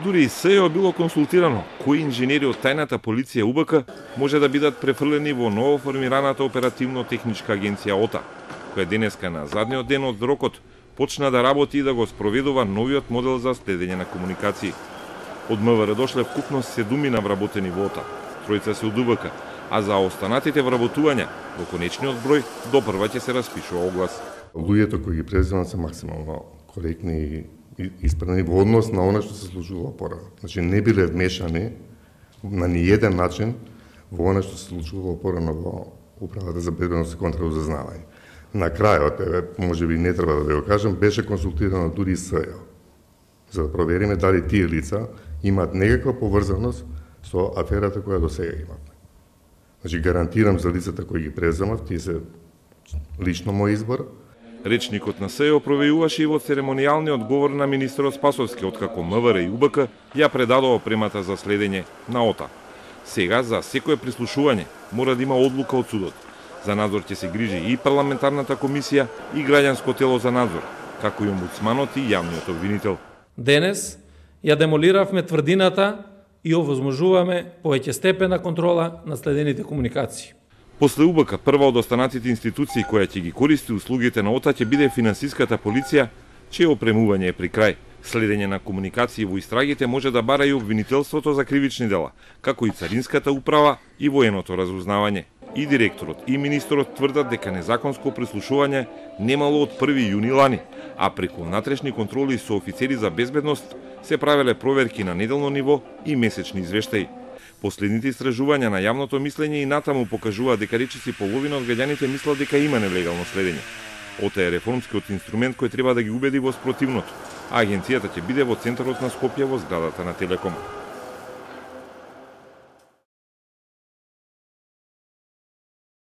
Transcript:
Дури и СЈО било консултирано кои инженери од тајната полиција УБК може да бидат префрлени во ново формираната оперативно-техничка агенција ОТА, која денеска на задниот ден од рокот почна да работи и да го спроведува новиот модел за следење на комуникации. Од МВР дошле вкупно 7 вработени во ОТА, 3 се од УБК, а за останатите вработувања во конечниот број до прва ќе се распишува оглас. Луѓето кои ги преземат се максимално коректни и исправни во однос на она што се случувало порано. Значи не биле вмешани на ниеден начин во она што се случувало порано во Управата за безбедност и контраразузнавање. На крајот, можеби не треба да ви го кажам, беше консултирано дури и СЈО за да провериме дали тие лица имаат некаква поврзаност со аферата која до сега имавме. Значи гарантирам за лицата кои ги преземав, тие се лично мој избор. Речникот на СЈО провејуваше и во церемонијалниот говор на министерот Спасовски, откако МВР и УБК ја предадоа опремата за следење на ОТА. Сега, за секое прислушување, мора да има одлука од судот. За надзор ќе се грижи и парламентарната комисија и граѓанско тело за надзор, како и омбудсманот и јавниот обвинител. Денес ја демолиравме тврдината и овозможуваме повеќе степен на контрола на следените комуникации. После УБК, прва од останатите институции која ќе ги користи услугите на ОТА ќе биде финансиската полиција, чие опремување е при крај. Следење на комуникации во истрагите може да бара и обвинителството за кривични дела, како и царинската управа и военото разузнавање. И директорот и министерот тврдат дека незаконско прислушување немало од 1 јуни лани, а преку внатрешни контроли со офицери за безбедност се правеле проверки на неделно ниво и месечни извештаи. Последните истражувања на јавното мислење и натаму покажуваат дека речиси половина од граѓаните мислат дека има нелегално следење. ОТА е реформскиот инструмент кој треба да ги убеди во спротивното, а агенцијата ќе биде во центарот на Скопје во зградата на Телеком.